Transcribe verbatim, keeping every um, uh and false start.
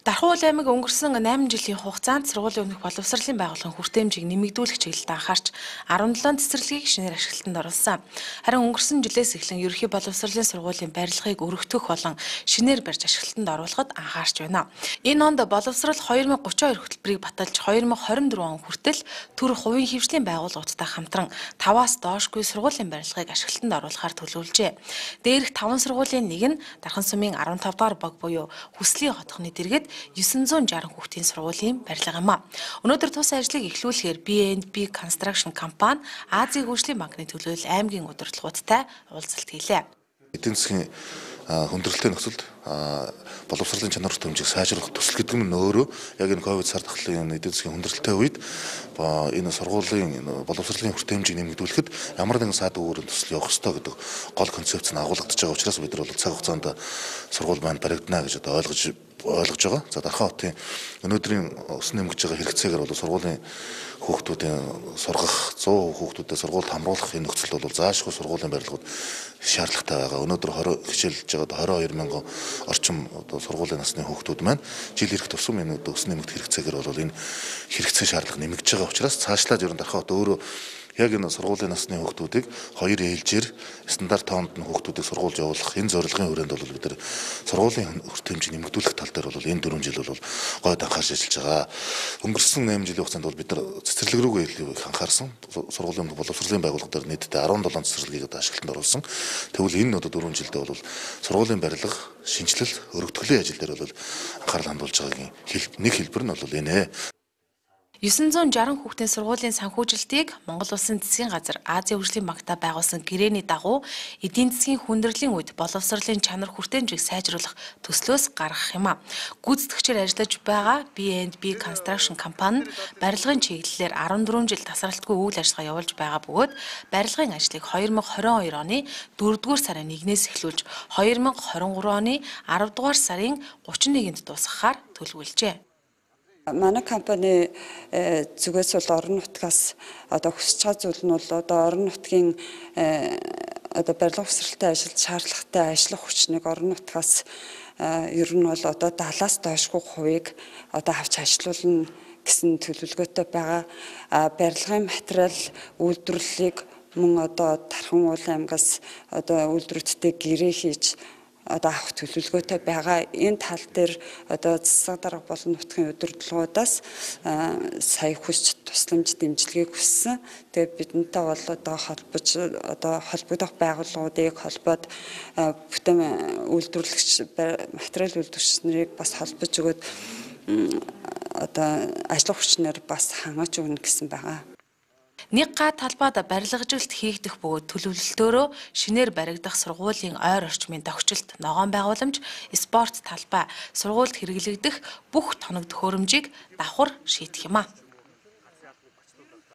Дархуул аймаг өнгөрсөн найман жилийн хугацаанд сургуулийн өмнөх боловсролын байгууллагын хүртээмжийг нэмэгдүүлэх чиглэлд анхаарч арван долоон цэцэрлэгийг шинээр ашиглалтанд оруулсан. Харин өнгөрсөн жилээс эхлэн ерөнхий боловсролын сургуулийн барилгыг өргөтгөх болон шинээр барьж ашиглалтанд оруулахад анхаарч байна. Энэ онд боловсрол две тысячи тридцать two хөтөлбөрийг баталж две тысячи двадцать four он хүртэл төр хувийн хвшлийн байгууллагуудтай хамтран таваас доошгүй сургуулийн барилгыг ашиглалтанд оруулахаар төлөвлөжээ. Дээрх таван сургуулийн нэг нь Дархан сумын fifteen дугаар баг буюу Хүслийн хотхны дэргэд nine sixty хүүхдийн сургуулийн барилга юм а. Өнөөдөр тус ажлыг эхлүүлэхээр би энд би Construction компани Азийн хөгжлийн банкны төлөөлөл аймгийн удирдлагуудтай уулзалт хийлээ. Эдийн засгийн хүндрэлтэй нөхцөлд боловсролын чанар хэмжээг сайжруулах төсөл гэдэг нь өөрөө яг энэ ковид сар дахлын эдийн засгийн хүндрэлтэй үед энэ сургуулийн боловсролын хүртээмжийг нэмэгдүүлэхэд ямар нэгэн саад өөрөнд төсөл явах ёстой гэдэг гол концепц нь агуулгадж байгаа учраас бид нар бол цаг хугацаанд сургууль маань баригдана гэж одоо ойлгож ойлгож байгаа. За Дархан хотын өнөөдрийн өснө нэмгэж байгаа хэрэгцээгээр бол сургуулийн хүүхдүүдийн сургах one hundred хүүхдүүдэд сургуульд хамруулах энэ нөхцөлд бол заашгүй сургуулийн барилгууд шаардлагатай байгаа. Өнөөдөр twenty хичээлж байгаа twenty-two мянган орчим одоо сургуулийн насны хүүхдүүд маань жил ирэх тусам энэ өснө нэмэгдэх хэрэгцээгээр бол энэ хэрэгцээ шаардлага нэмэгдэж байгаа учраас цаашлаад ер нь Дархан хот өөрөө яг энэ сургуулийн насны хүүхдүүдийг хоёр ээлжээр стандарт тоонд нь хүүхдүүдийг сургуульд явуулах энэ зорилгын хүрээнд бол бид нар сургуулийн хүртээмжийг нэмэгдүүлэх тал дээр бол энэ four жил бол гойд анхаарч ажиллаж байгаа. Өнгөрсөн eight жилийн хугацаанд бол бид нар цэцэрлэг рүүгээ илүү анхаарсан. Сургуулийн боловсролын байгууллага дээр нийтдээ seventeen цэцэрлэгийг одоо ашиглалтанд оруулсан. Тэгвэл энэ одоо four жилдээ бол сургуулийн барилга, шинжилэл, өргөтгөлийн ажил дээр бол анхаарал хандуулж байгаагийн нэг хэлбэр нь бол энэ. nine sixty хүүхдийн сургуулийн санхүүжилтийг Монгол Улсын засгийн газар Азийн хөгжлийн банктай байгуулсан гэрээний дагуу эдийн засгийн хүндрлийн үед боловсролын чанар хүртээмжийг сайжруулах төслөөс гаргах юм а. Гүйцэтгэгчээр ажиллаж байгаа би энд би Construction компани барилгын чиглэлээр fourteen жил тасралтгүй үйл ажиллагаа явуулж байгаа бөгөөд барилгын ажлыг twenty twenty-two оны fourth сарын one-ээс эхлүүлж twenty twenty-three оны ten дугаар сарын thirty-first-нд дуусгахаар төлөвлөжээ. Манай компани зүгээс бол орон нутгаас одоо хүсэж байгаа зүйл нь бол одоо орон нутгийн одоо барилга босралтай ажилд шаардлагатай ажиллах хүчнийг орон нутгаас ер нь бол одоо seventy-аас доошгүй хувийг одоо авч ажилуулна гэсэн төлөвлөгөөтэй байгаа. Барилгын материал үйлдвэрлэлийг мөн одоо Дархан уул аймгаас одоо үйлдвэрүүдтэй гэрээ хийж одоо авах төлөвлөгөөтэй байгаа. Энэ тал дээр одоо засаг дарга болон нутгийн удирдлагуудаас сая хүсч тусламж дэмжлэгийг хүссэн. Тэгээд бидэнтэй бол одоо холбож одоо холбогдох байгууллагуудыг холбоод бүтээн үйлдвэрлэгч материал үйлдвэрч нарыг бас холбож өгөөд одоо ажиллах хүчнээр бас хангаж өгнө гэсэн байгаа. Нэг га талбайд барилгажилт хийгдэх бөгөөд төлөвлөлтөөрөө шинээр баригдах сургуулийн ойр орчмын тогтчлт, ногоон байгууламж, спорт талбай, сургуульд хэрэглэгдэх бүх тоног төхөөрөмжийг давхар шийдэх юм а.